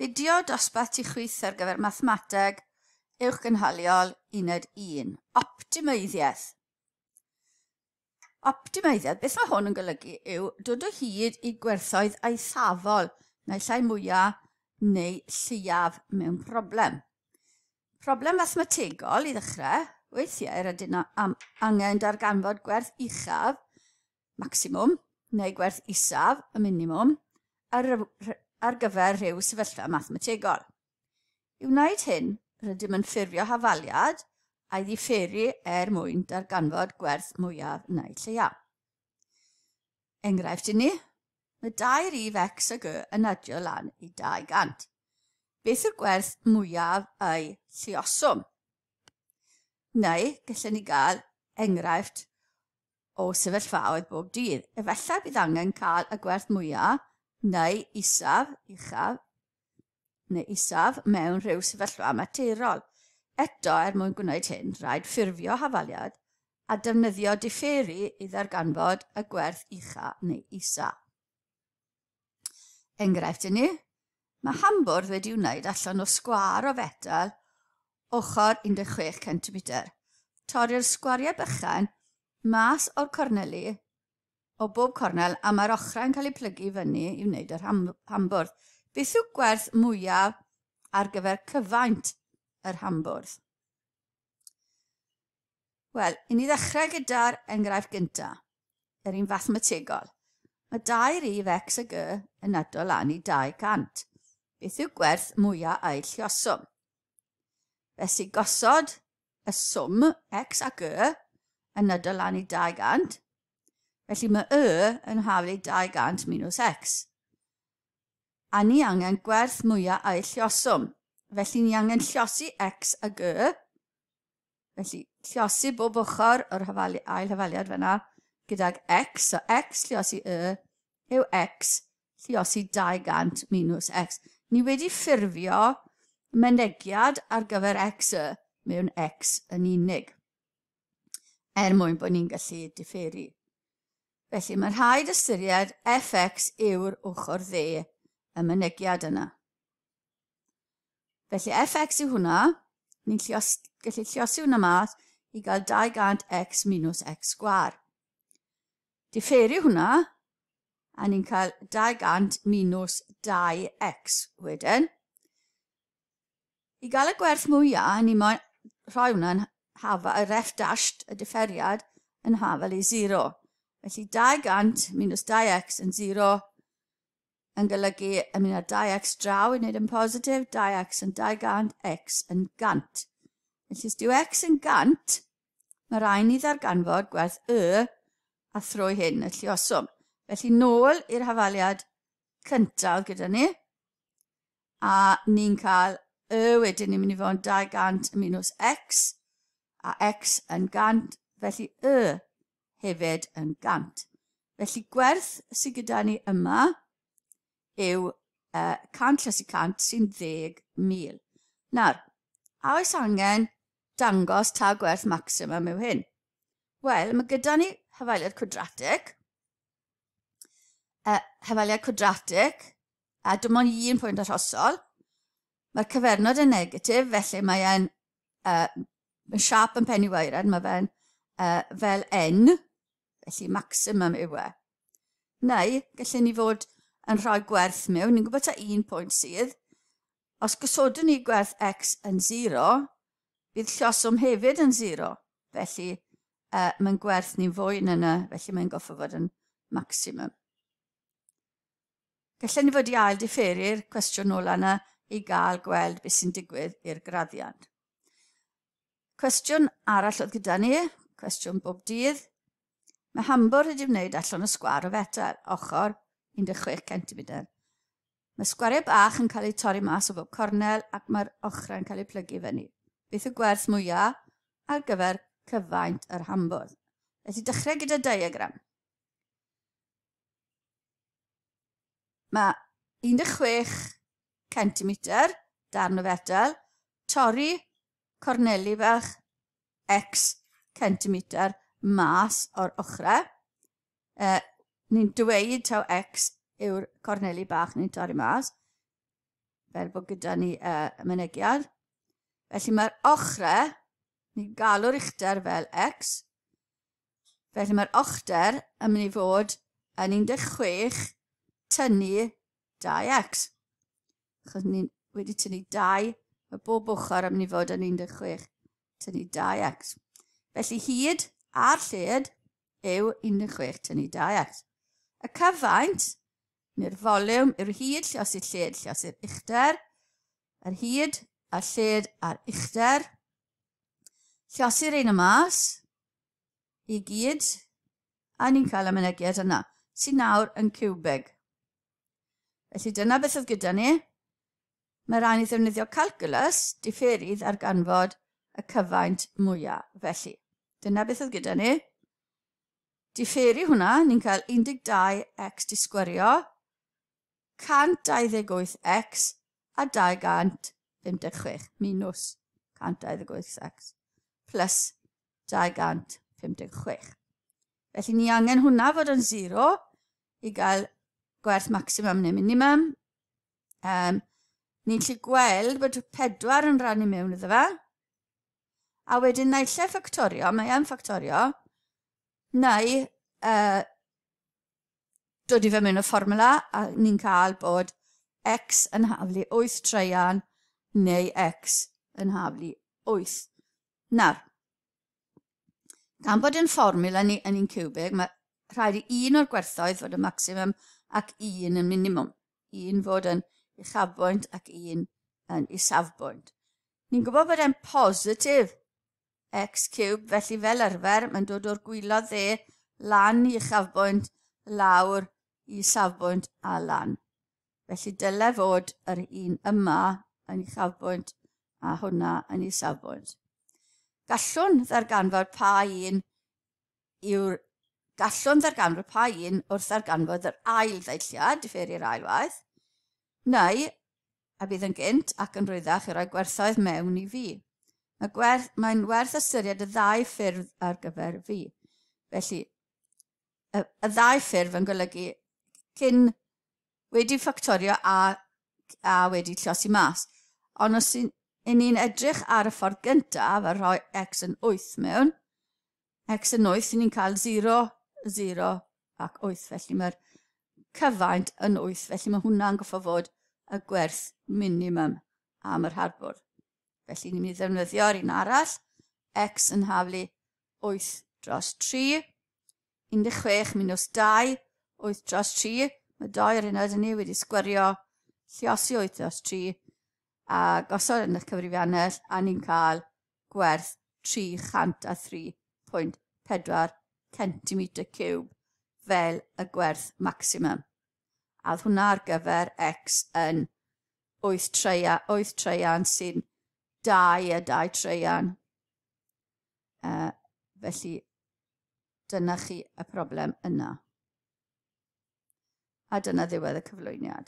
Fideo dosbarth ti chwith ar gyfer mathemateg uwchgynhaliol uned 1. Optimeiddiaeth. Optimeiddiaeth, beth mae hwn yn golygu yw dod o hyd i gwerthoedd eithafol, naill ai mwyaf neu lleiaf mewn problem. Problem fathemategol i ddechrau, weithiau rydyn am angen darganfod gwerth uchaf maximwm neu gwerth isaf, y minimwm, ar, ar gyfer rhyw sefyllfa mathemategol. I wneud hyn, rydym yn ffurfio hafaliad a'i ddifferu er mwyn darganfod gwerth mwyaf neu lleiaf. Enghraifft i ni, mae dau rif x a g yn adio lan i 200. Beth yw'r gwerth mwyaf ei lluoswm? Neu, gallwn ni gael enghraifft o sefyllfaoedd bob dydd. Efallai bydd angen cael y gwerth mwyaf neu isaf, uchaf, neu isaf mewn rhyw sefyllfa materol. Eto, er mwyn gwneud hyn, rhaid ffurfio hafaliad a defnyddio diferu i ddarganfod y gwerth ucha neu isa. Enghraifft i ni, mae hambwrdd wedi wneud allan o sgwâr o fetel ochr 16 cm. Torri'r sgwariau bychan mas o'r corneli o bob cornel a mae'r ochrau'n cael eu plygu fyny i wneud yr hambwrdd. Beth yw gwerth mwyaf ar gyfer cyfaint yr hambwrdd? Wel, i ni ddechrau gyda'r enghraifft gyntaf, yr un fathemategol. Mae dau rif x a g yn ado lan i 200. Beth yw gwerth mwyaf a'i lluoswm? Felly gosod y swm x a g yn ado lan i 200. Felly mae y yn haflu 200 minus x. A ni angen gwerth mwyaf a'i lluoswm. Felly ni angen llosi x a g. Felly llosi bob ochr o'r hafali, ail hafaliad fyna gydag x. So x llosi y yw x lliosi 200 minus x. Ni wedi ffurfio mynegiad ar gyfer x y mewn x yn unig, er mwyn bod ni'n gallu diferu. Felly mae'n rhaid ystyried fx yw'r ochr dde y mynegiad yna. Felly fx yw hwnna, ni'n llios, gallu lliosi hwnna mas i gael 200x minus x sgwar. Diferu hwnna, a ni'n cael 200 minus 2x wedyn. I gael y gwerth mwyaf, ni moyn rhoi hwnna'n hafa, yr f dashed, y diferiad, yn hafal i 0. Felly 200 minus 2x yn 0 yn golygu yn mynd â 2x draw i wneud yn positif, 2x yn 200, x yn 100. Felly os dyw x yn 100, mae rhaid ni ddarganfod gwerth y a thrwy hyn y lluoswm. Felly nôl i'r hafaliad cyntaf gyda ni, a ni'n cael y wedyn ni'n mynd i fod yn 200 minus x, a x yn 100, felly y hefyd yn 100. Felly gwerth sydd gyda ni yma yw 100 lles i 100 sy'n 10,000. Nawr, a oes angen dangos ta gwerth maximum yw hyn? Wel, mae gyda ni hyfaliad cwadratig, hyfaliad cwadratig, a dim ond un pwynt arhosol. Mae'r cyfernod yn negatif, felly mae e'n mae siap yn penny waered, mae fe'n fel n, felly maximum yw e. Neu, gallen ni fod yn rhoi gwerth mewn, ni'n gwybod ta un pwynt sydd. Os gosodwn ni gwerth x yn 0, bydd lloswm hefyd yn 0. Felly, mae'n gwerth ni'n fwy na yna, felly mae'n goffo fod yn maximum. Gallen ni fod i ail diferu'r cwestiwn ola yna i gael gweld beth sy'n digwydd i'r graddiant. Cwestiwn arall oedd gyda ni, cwestiwn bob dydd. Mae hambwr wedi wneud allan o sgwâr o fetel, ochr 16 cm. Mae sgwariau bach yn cael eu torri mas o bob cornel ac mae'r ochrau'n cael eu plygu fyny. Beth yw gwerth mwyaf ar gyfer cyfaint yr hambwrdd? Felly dechrau gyda diagram. Mae 16 cm darn o fetel, torri corneli fach x centimetr mas o'r ochrau. Ni'n dweud taw x yw'r corneli bach ni'n torri mas. fel bod gyda ni y mynegiad. Felly mae'r ochrau, ni'n galw'r uchder fel x, felly mae'r ochder yn mynd i fod yn 16 tynnu 2x. Achos ni wedi tynnu 2, mae bob ochr yn mynd i fod yn 16 tynnu 2x. Felly hyd a'r lled yw 16 tynnu 2x. Y cyfaint, neu'r foliwm, yw'r hyd lliosi'r lled lliosi'r uchder, yr hyd a'r lled a'r uchder. Lliosi'r un y mas i gyd, a ni'n cael y mynegiad yna, sy'n nawr yn ciwbig. Felly dyna beth oedd gyda ni. Mae rhaid ni ddefnyddio calculus diferydd ar ganfod y cyfaint mwyaf. Felly, dyna beth oedd gyda ni. Diferu hwnna, ni'n cael 12x di sgwerio, 128x a 256 minus 128x plus 256. Felly ni angen hwnna fod yn 0 i gael gwerth maximum neu minimum. Ni'n gallu gweld bod 4 yn rhannu mewn iddo fe. A wedyn naill ai ffactorio, mae yn ffactorio, neu dod i fe mewn y fformwla a ni'n cael bod x yn haflu 8 treian neu x yn haflu 8. Nawr, gan bod yn fformwla ni yn un ciwbig, mae rhaid i un o'r gwerthoedd fod yn maximum ac un yn minimum. Un fod yn uchafbwynt ac un yn isafbwynt. Ni'n gwybod bod e'n positif x cube, felly fel arfer mae'n dod o'r gwaelod dde lan i uchafbwynt, lawr i isafbwynt a lan. Felly dyle fod yr un yma yn uchafbwynt a hwnna yn isafbwynt. Gallwn ddarganfod pa un yw'r gallwn ddarganfod pa un wrth ddarganfod yr ail ddeilliad, diferu'r ail waith, neu a bydd yn gynt ac yn rhwyddach i roi gwerthoedd mewn i fi. Mae'n werth ystyried y ddau ffurf ar gyfer fi. Felly, y ddau ffurf yn golygu cyn wedi ffactorio a wedi llosi mas. Ond os ni'n edrych ar y ffordd gyntaf a rhoi x yn 8 mewn, x yn 8, ni'n cael 0, 0 ac 8. Felly mae'r cyfaint yn 8, felly mae hwnna'n goffo fod y gwerth minimum am yr harbwr. Felly ni'n mynd i ddefnyddio'r un arall, x yn haflu 8 dros 3, 16 minus 2, 8 dros 3, mae 2 ar hyn ni wedi sgwerio, lliosi 8 dros 3, a gosod yn eich cyfrifiannell, a ni'n cael gwerth 303.4 cm ciwb fel y gwerth maximum. A oedd hwnna ar gyfer x yn 8 treian sy'n 2 a 2 treian. Felly, dyna chi y problem yna. A dyna ddiwedd y cyflwyniad.